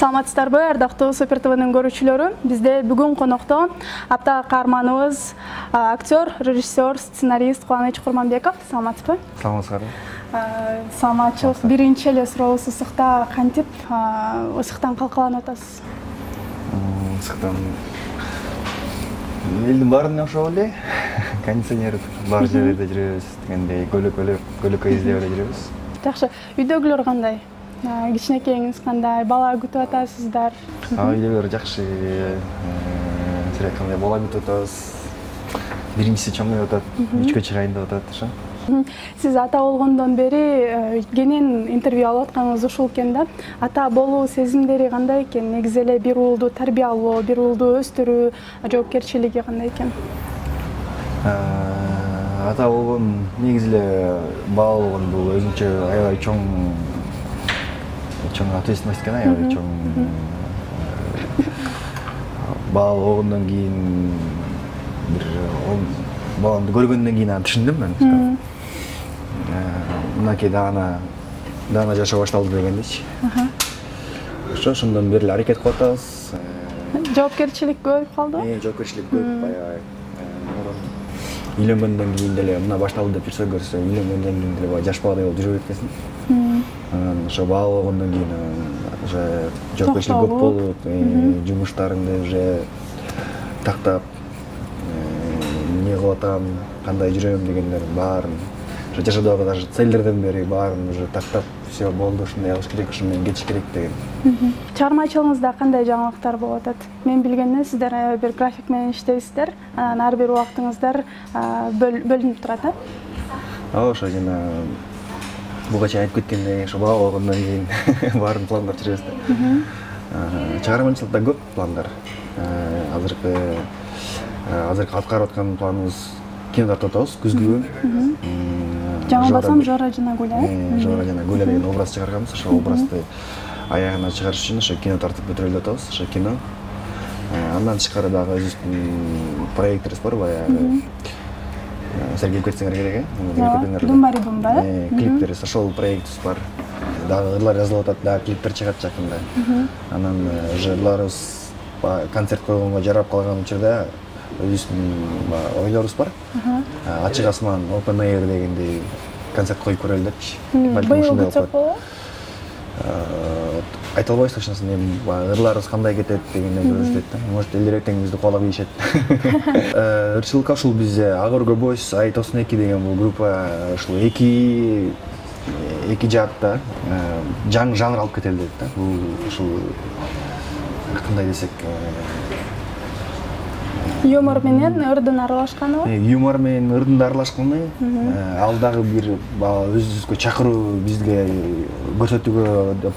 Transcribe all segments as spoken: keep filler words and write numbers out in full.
Саламатсыздарбы, ардактуу Супер ТВнын көрүүчүлөрү. Бизде бүгүн конокто апта каарманыбыз актер, режиссер, сценарист Кубаныч Курманбеков. Саламатсызбы? Саламатсыздарбы. Саламатчылык биринчи эле сурообуз ысыкта кантип ысыктан калкаланып атасыз? Ысыктан элдин баарына окшоп эле. Кондиционер бар жерде жүрөбүз дегендей, көлөкө издеп эле жүрөбүз. Жакшы. Үйдөгүлөр кандай? Кичинекейиңиз кандай? Бала күтүп атасыздар? Үйлөр жакшы. Сирек кандай бала күтүп атабыз. Биринчиси чоңоюп атат, үчкө чыгайын деп атат, ошо. Сиз ата болгондон бери кенен интервью алып атканыңыз ушул экен да. Ата болуу сезимдери кандай экен? Негизи эле бир уулду тарбиялоо, бир уулду өстүрүү жоопкерчилиги кандай экен? Ата болгон негизи эле бала болгон бул өзүнчө аябай чоң чоң ответственность экен, аябай чоң. Бала болгондон кийин бир баламды көргөндөн кийин аны түшүндүм мен. Мынакей даана даана жашоо башталды дегендейчи. Ошо ошондон бери эле аракет кылып атабыз. Жоопкерчилик көбөйүп калды? Э, жоопкерчилик көбөйүп аябай. Үйлөнгөндөн кийин деле мына башталды деп жүрсө көрсө, үйлөнгөндөн кийин деле жаш баладай болуп жүрө бересиң. Анан ошо бала болгондон кийин уже жоопкерчилик көп болуп, жумуштарыңды уже тактап, эмне кылып атам, кандай жүрөм дегендердин баарын, жашоодогу даже целдерден бери баарын уже тактап, все болду, ушундай кылыш керек, ушуну менен кетиш керек деген. Чыгармачылыгыңызда кандай жаңылыктар болуп атат? Мен билгенден сиздер бир график менен иштейсиздер, анан ар бир убактыңыздар бөлүнүп турат, э? Ооба, ошо жана буга чейин айтып кеткендей, ошо бала болгондон кийин баарын пландап жүрөбүз да. Чыгармачылыкта көп пландар. Азыркы азыркы аткарып аткан планыбыз кино тартып атабыз күзгү. Жаңылбасам Жора жана Гуля. Жора жана Гуля деген образ чыгарганбыз. Ошо образды аягына чыгарыш үчүн ошо кино тартып бүтүрөлүп атабыз. Ошо кино. Андан тышкары дагы өзүбүздүн проектибиз бар, баягы. Сергей кетсеңер керек, э? Думбари Думба, э? Клиптерибиз, ошол проектибиз бар. Дагы ырлар жазылып атат, дагы клиптер чыгат жакында. Анан уже ырларыбыз концерт койгонго жарап калган учурда өзүбүздүн ойлорубуз бар. Ачык асман, Open Air дегендей концерт коюп көрөлү депчи. Балким ушундай болот. Айта албайбыз точносын, эми ырларыбыз кандай кетет дегенден көрсөтөт да. Может, элдирээктен бизди кубалап ийишет. Ырчылыкка ушул бизде Агорго Boys, Ай токсон эки деген бул группа ушул эки эки жаатта жаңы жанр алып кетели дейт да. Бул ушул кандай десек, юмор менен ырдын аралашканы. Юмор менен ырдын аралашканы. Ал дагы бир өзүбүзгө чакыруу, бизге көрсөтүүгө деп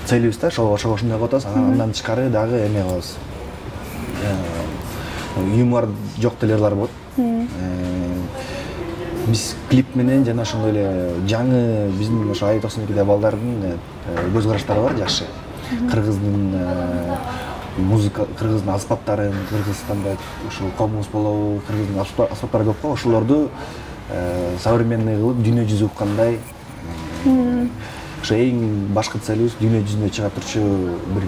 целибиз да, ошого ошондой кылып атабыз. Андан тышкары дагы эме кылабыз. Юмор жок деле ырлар болот. Биз клип менен жана ошондой эле жаңы биздин ошо Ай токсон экидеги балдардын көз караштары бар жакшы. Кыргыздын музыка, кыргыздын аспаптарын, Кыргызстанда ушул коммуз болобу, кыргыздын аспаптары көп го, ошолорду современный кылып дүйнө жүзү уккандай. Ошо эң башкы целибиз дүйнө жүзүнө чыга турчу бир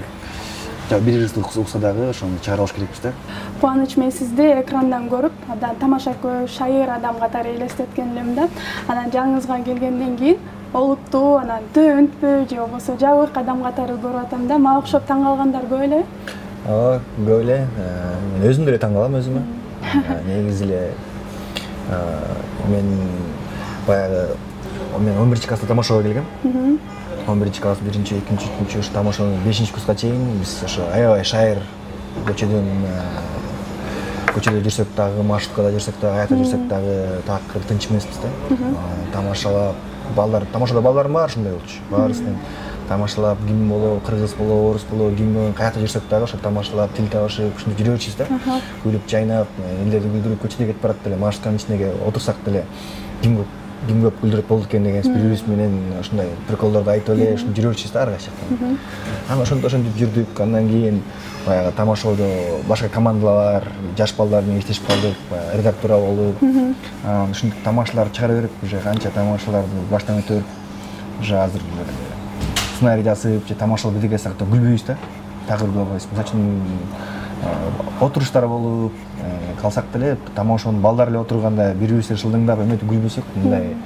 бир ырысты укса дагы ошону чыгара алыш керекпиз да. Кубаныч, мен сизди экрандан көрүп, тамашакөй, шайыр адам катары элестеткен элем да. Анан жаңыңызга келгенден кийин олуттуу, анан төнтпү же болбосо жабык адам катары көрүп атам да. Мага окшоп таң калгандар көп эле. Ооба, көп эле. Мен өзүм деле таң калам өзүмө. Негизи эле мен баягы мен он биринчи класста тамашага келгем. он биринчи класс, биринчи, экинчи, үчүнчү, ушу тамашанын бешинчи курска чейин биз ошо аябай шайыр көчөдөн көчөдө жүрсөк дагы, маршруткада жүрсөк дагы, аякта жүрсөк дагы такыр тынч эмеспиз да. Тамашалап, балдар, тамашада балдарым бар, ушундай болчу. Баарысын тамашалап, ким болобу, кыргыз болобу, орус болобу, ким каякта жүрсөк дагы ошо тамашалап, тил табышып, ушинтип жүрө берчүбүз да. Күлүп, жайнап, элдерди күлдүрүп, көчөдө кетип барат деле, маршрутканын ичиндеги отурсак деле ким көп ким көп күлдүрүп болду экен деген бири-бирибиз менен ушундай приколдорду айтып эле ушинтип жүрө берчүбүз да ар кайчан. Анан ошентип ошентип жүрдүк. Андан кийин баягы тамашоодо башка командалар, жаш балдар менен иштешип калдык, редактура болуп. Анан ушинтип тамашалар чыгара берип, уже канча тамашаларды баштан өтүп, уже азыр сценарий жазып же тамашалап бирдеке жасасак да күлбөйбүз да. Такыр күлө албайбыз. Мисалы үчүн отуруштар болуп калсак деле тамашанын балдар эле отурганда бири-бирибизге шылдыңдап эметип күлбөсөк мындай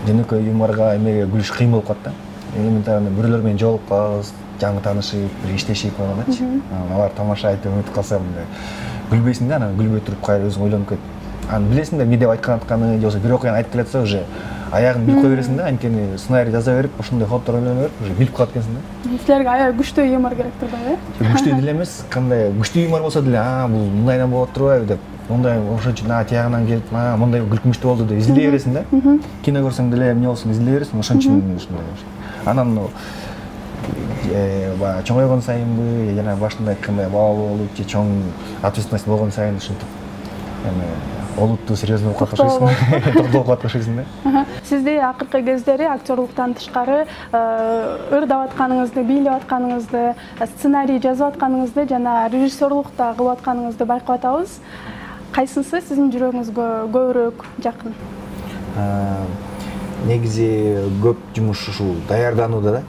жөнөкөй юморго эмеге күлүш кыйын болуп калат да. Элементарно бирөөлөр менен жолугуп калабыз, жаңы таанышып, бир иштешип койгондачы. Алар тамаша айтып өтүп калса мындай күлбөйсүң да, анан күлбөй туруп кайра өзүң ойлонуп кетип. Анан билесиң да эмне деп айткан атканы, же болбосо бир окуяны айтып келатса уже аягын билип кое бересиң да, анткени сценарий жаза берип, ошондой ходдор ойлоно берип, уже билип калат экенсиң да. Силерге аябай күчтүү юмор керек турбайбы, э? Күчтүү деле эмес, кандай күчтүү юмор болсо деле, а бул мындайдан болот турбайбы деп, мондай ошон үчүн а тиягынан келип, а мондай күлкүнчтүү болду деп изилдей бересиң да. Кино көрсөң деле эмне болсун изилдей бересиң, ошон үчүн ушундай. Анан баягы чоңойгон сайынбы, жана башында айткандай бала болуп же чоң ответственность болгон сайын ушинтип эми олуттуу серьезный болуп калышасың, токтолуп калып калышасың да. Сизди акыркы кездери актерлуктан тышкары ырдап атканыңызды, бийлеп атканыңызды, сценарий жазып атканыңызды жана режиссерлукта кылып атканыңызды байкап атабыз. Кайсысы сиздин жүрөгүңүзгө көбүрөөк жакын? Негизи көп жумуш ушул даярданууда да.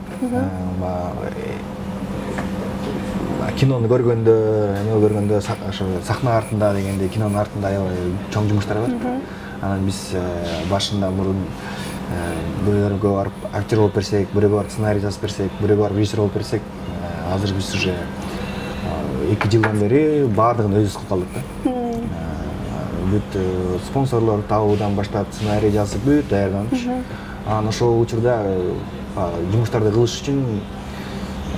Кинону көргөндө, эме көргөндө, ошо сахна артында дегенде кинонун артында аябай чоң жумуштар бар. Анан биз башында мурун бирөөлөргө барып актер болуп берсек, бирөөгө барып сценарий жазып берсек, бирөөгө барып режиссер болуп берсек, азыр биз уже эки жылдан бери баардыгын өзүбүз кылып калдык да. Бүт спонсорлор табуудан баштап сценарий жазып бүт даярданып. Анан ошол учурда жумуштарды кылыш үчүн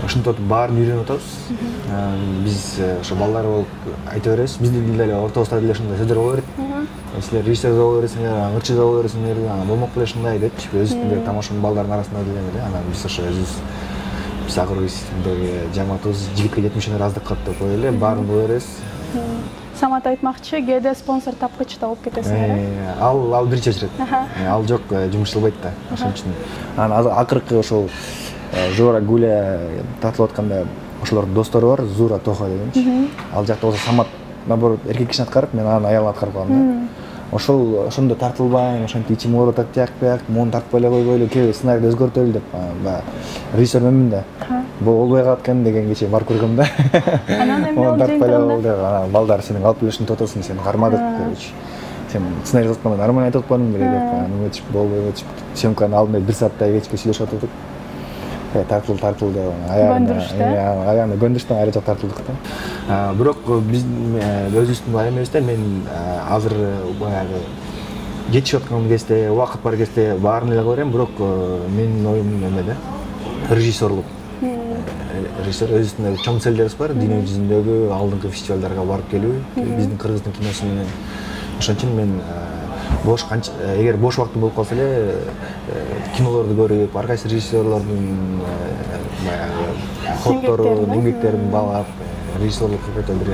ушинтип баарын үйрөнүп атабыз. Биз ошо балдар болуп айта беребиз. Биздин деле ортобузда деле ушундай сөздөр боло берет. Силер режиссер боло бересиңер, ырчы боло бересиңер, анан болмок беле ушундай депчи. Өзүбүздүн тамашанын балдардын арасында деле эле. Анан биз ошо өзүбүз биз акыры биздеги жамаатыбыз жигитке жетимишинер аздык кылат деп коелу эле, баарын боло беребиз. Самат айтмакчы, кээде спонсор тапкыч да болуп кетесиңер, э? Ал ал бир чечирет. Ал жок, жумуш кылбайт да. Ошон үчүн. Анан акыркы ошол Жора Гуля тартылып атканда ошолордун достору бар, Зура Тоха дегенчи. Ал жакта болсо Самат наоборот эркек кишини аткарып, мен анын аялын аткарып калдым да. Ошол ошондо тартылбайм, ошентип ичим ооруп атат тияк-бияк, муну тартпай эле койгойлу, кээ сценарийди өзгөртөлү деп, баягы режиссер менмин да. Болбой калат экен деген кечээ барып көргөм да. Анан эмне болду жыйынтыгында? Анан балдар сенин алып эле ушинтип атасың, сени кармадык депчи. Сен сценарий жазып атканда нормально айтып атпадың беле деп, анан эметип болбой кетип, съемканын алдында бир сааттай кечке сүйлөшүп атыдык. Тартыл тартыл деп аягында аягында көндүрүштөн айры жак тартылдык да. Бирок биз өзүбүздүн эмебизде мен азыр баягы жетишип аткан кезде, убакыт бар кезде баарын эле кыла берем, бирок менин оюм эмеде режиссерлук. Режиссер өзүнүн чоң целдерибиз бар, дүйнө жүзүндөгү алдыңкы фестивалдарга барып келүү, биздин кыргыздын киносу менен. Ошон үчүн мен бош канча эгер бош убактым болуп калса эле кинолорду көрүп, ар кайсы режиссерлордун баягы ходдорун, эмгектерин баалап, режиссерлук какой-то бир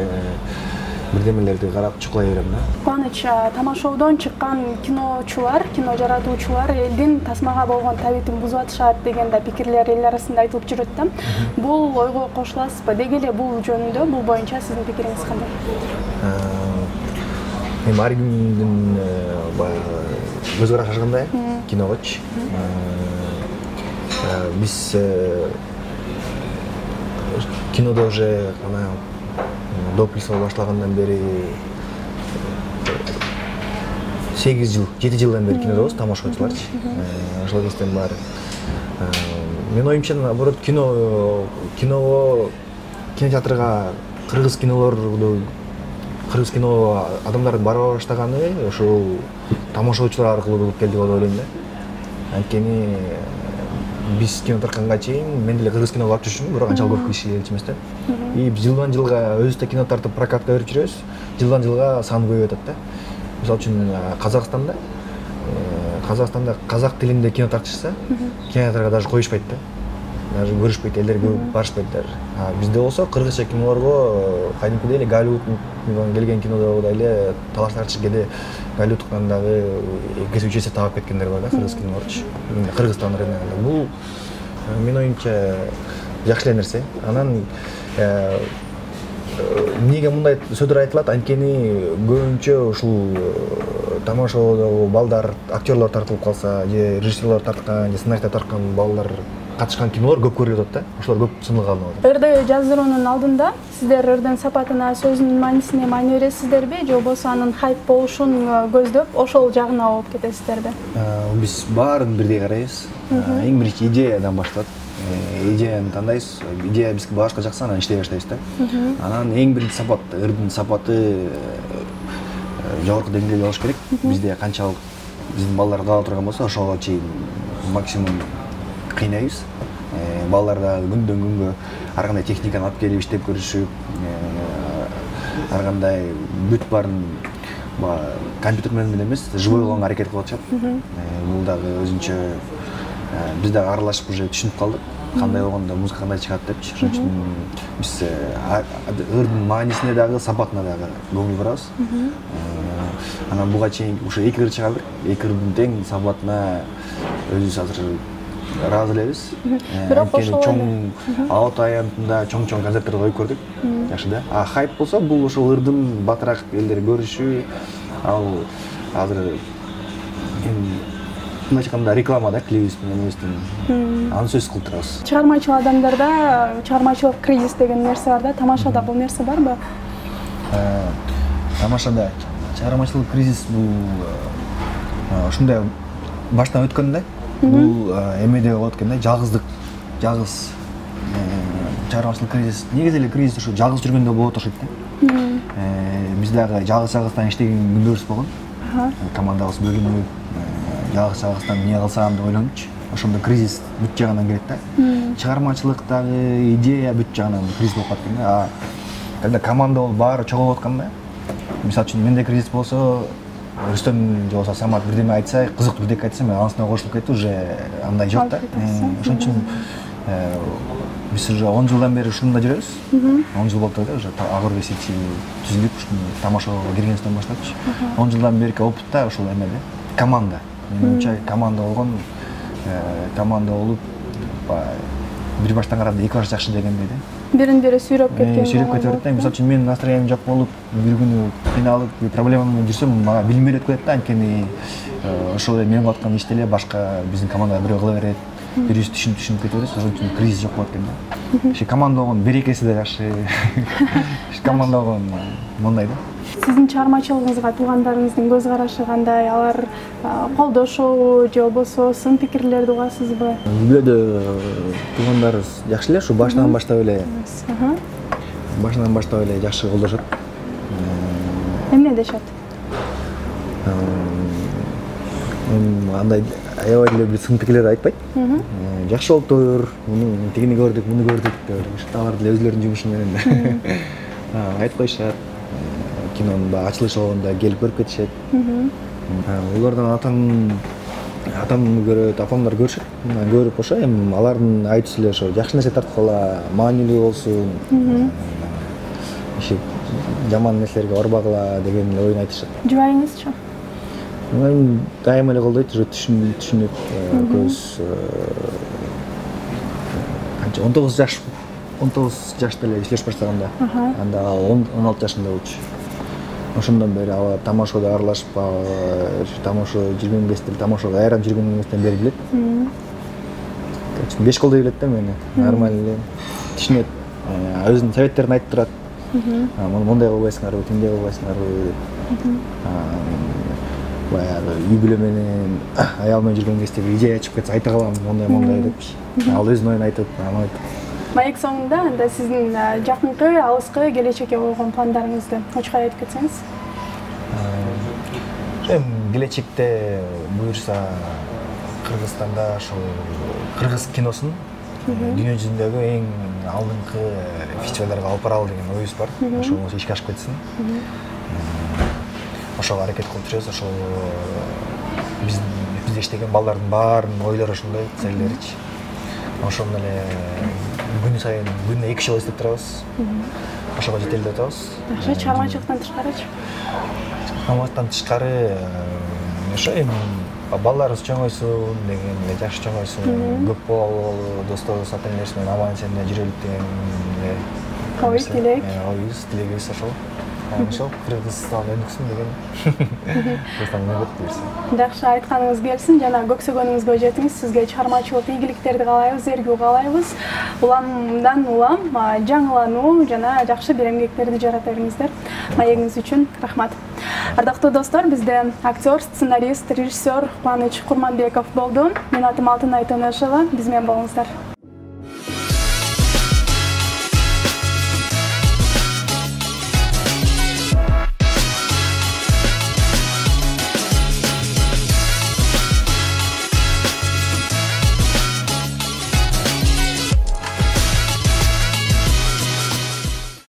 бирдемелерди карап чукулай берем да. Кубаныч, тамашоодон чыккан киночулар, кино жаратуучулар элдин тасмага болгон табитин бузуп атышат деген да пикирлер эл арасында айтылып жүрөт да. Бул ойго кошуласызбы? Деги эле бул жөнүндө, бул боюнча сиздин пикириңиз кандай? Эми ар кимдин баягы көз карашы ар кандай киногочу. Биз кинодо уже ана дописоо башлагандан бери сегиз жыл, жети жылдан бери кинодобуз, тамашачыларчы. Ошол кезден баары. Менин оюмча, наоборот, кино киного кинотеатрга кыргыз кинолорду кыргыз кино адамдардын бара баштаганы ошол тамашачылар аркылуу болуп келди деп ойлойм да. Анткени биз кино тартканга чейин мен деле кыргыз кино барып жүрчүмүн, бирок анчалык көп киши келчү эмес да. И жылдан жылга өзүбүз кино тартып прокатка берип жүрөбүз. Жылдан жылга саны көбөйүп атат да. Мисалы үчүн Казакстанда Казакстанда казак тилинде кино тартышса, кинотеатрга даже коюшпайт да. Даже көрүшпөйт, элдер көп барышпайт даже. А бизде болсо кыргызча кинолорго кадимкидей эле Голливудтан келген кинодогудай эле талаштарчы кээде Голливудтан дагы эки үч эсе таап кеткендер бар да, кыргыз кинолорчу. Кыргызстан рыногунда. Бул менин оюмча жакшы эле нерсе. Анан эмнеге мындай сөздөр айтылат? Анткени көбүнчө ушул тамашоодогу балдар, актерлор тартылып калса, же режиссерлор тарткан, же сценарийди тарткан балдар катышкан кинолор көп көрүлүп атат да. Ошолор көп сынга алынып атат. Ырды жаздыруунун алдында сиздер ырдын сапатына, сөзүнүн маанисине маани бересиздерби же болбосо анын хайп болушун көздөп ошол жагына болуп кетесиздерби? Биз баарын бирдей карайбыз. Эң биринчи идеядан башталат. Идеяны тандайбыз, идея бизге башка жакса, анан иштей баштайбыз да. Анан эң биринчи сапат, ырдын сапаты жогорку деңгээлде болуш керек. Бизде канчалык биздин балдар каала турган болсо, ошого чейин максимум кыйнайбыз. Балдар да күндөн күнгө ар кандай техниканы алып келип иштеп көрүшүп, ар кандай бүт баарын компьютер менен эмес, живой болгонго аракет кылып атышат. Бул дагы өзүнчө биз дагы аралашып уже түшүнүп калдык. Кандай болгондо музыка кандай чыгат депчи. Ошон үчүн биз ырдын маанисине дагы, сапатына дагы көңүл бурабыз. Анан буга чейин ушу эки ыр чыгардык. Эки ырдын тең сапатына өзүбүз азыр ыраазы элебиз. Бирок ошол чоң аут аянтында чоң-чоң концерттерди коюп көрдүк. Жакшы да. А хайп болсо бул ошол ырдын батыраак элдер көрүшү, ал азыр мындайча айтканда реклама да, клибибиз менен эместен аны сөз кылып турабыз. Чыгармачыл адамдарда чыгармачылык кризис деген нерсе бар да. Тамашада бул нерсе барбы? Тамашада чыгармачылык кризис бул ушундай баштан өткөн да. Бул эмеде болот экен да, жалгыздык, жалгыз чыгармачылык кризис. Негизи эле кризис ушу жалгыз жүргөндө болот окшойт да. Биз дагы жалгыз-жалгыздан иштеген күндөрүбүз болгон. Командабыз бөлүнүп, жалгыз-жалгыздан эмне кылсам деп ойлончу. Ошондо кризис бүт жагынан келет да. Чыгармачылыктагы идея бүт жагынан кризис болуп калат экен да. А когда команда болуп баары чогулуп атканда, мисалы үчүн менде кризис болсо, Рүстөм же болбосо Самат бирдеме айтса, кызыктуу бирдеке айтса, мен анысына кошулуп кетип, уже андай жок да. Ошон үчүн биз уже он жылдан бери ушунда жүрөбүз. он жыл болуп да, уже Агырбек Сити түзүлүп, ушуну тамашага киргенибизден баштапчы. он жылдан берки опытта ошол эмеде команда. Менимче команда болгон, команда болуп, бир баштан караганда эки баш жакшы дегендей да. Бирин-бири сүйрөп кеткен. Сүйрөп кетип да. Мисалы үчүн менин настроением жок болуп, бир күнү кыйналып, проблема менен жүрсөм, мага билинбей эле коет да, анткени ошол эле мен кылып аткан ишти эле башка биздин командага бирөө кыла берет. Бирибиз түшүнүп түшүнүп кетип атабыз, ошон үчүн кризис жок болот экен да. Ошо команда болгон берекеси да жакшы. Команда болгон мондай да. Сиздин чыгармачылыгыңызга туугандарыңыздын көз карашы кандай? Алар колдошобу же болбосо сын пикирлерди угасызбы? Бүлөдө туугандарыбыз жакшы эле, ушу башынан баштап эле. Башынан баштап эле жакшы колдошот. Эмне дешет? Андай аябай эле бир сын пикирлерди айтпайт. Жакшы болуптур, муну тигини көрдүк, муну көрдүк деп, алар деле өзүлөрүнүн жумушу менен айтып коюшат. Кинонун ачылышы болгондо келип көрүп кетишет. Улардан атам атамды көрөт, апамдар көрүшөт. Көрүп ошо эми алардын айтуусу эле ошо жакшы нерсе тартып кала, маанилүү болсун. Иши жаман нерселерге орбагыла деген эле оюн айтышат. Жубайыңызчы? Мен дайыма эле колдойт, уже түшүнүп, көз канча он тогуз жаш, он тогуз жашта эле иштеш баштаганда. Анда он алты жашында болчу. Ошондон бери аба тамашада аралашып, тамаша жүргөн кезде, тамашага айран жүргөнүмүздөн бери билет. Беш колдой билет да мени. Нормально эле түшүнөт. Өзүнүн советтерин айтып турат. Мондай кылбайсыңарбы, тиндей кылбайсыңарбы деп. Баягы үй бүлө менен, аял менен жүргөн кезде идея чыгып кетсе айта калам, мондай мондай депчи. Ал өзүнүн оюн айтып, аны айтып. Маек соңунда анда сиздин жакынкы, алыскы, келечекке койгон пландарыңызды очук айтып кетсеңиз. Эми келечекте буюрса Кыргызстанда ошол кыргыз киносун дүйнө жүзүндөгү эң алдыңкы фестивалдарга алып баралы деген оюбуз бар. Ошол ишке ашып кетсин. Ошого аракет кылып жүрөбүз. Ошол биз бизде иштеген балдардын баарынын ойлору ошондой, целдеричи. Ошондо эле күн сайын күнүнө эки жолу иштеп турабыз. Ошого жетели деп атабыз. Жакшы, чыгармачылыктан тышкарычы? Чыгармачылыктан тышкары ошо эми балдарыбыз чоңойсун деген эле, жакшы чоңойсун, көп бололу, досторубуз, ата-энелерибиз менен аман-эсен жүрөлүк деген эле ой тилек. Оюбуз, тилегибиз ошол. ошол предыставление өткүсүн деген просто мындай берсин. Жакшы, айтканыңыз келсин жана көксөгөнүңүзгө жетиңиз. Сизге чыгармачылык ийгиликтерди каалайбыз, эргүү каалайбыз. Уламдан улам жаңылануу жана жакшы бир эмгектерди жарата бериңиздер. Маегиңиз үчүн рахмат. Ардактуу достор, бизде актер, сценарист, режиссер Кубаныч Курманбеков болду. Мен атым Алтынай Төнөшова. Биз менен болуңуздар.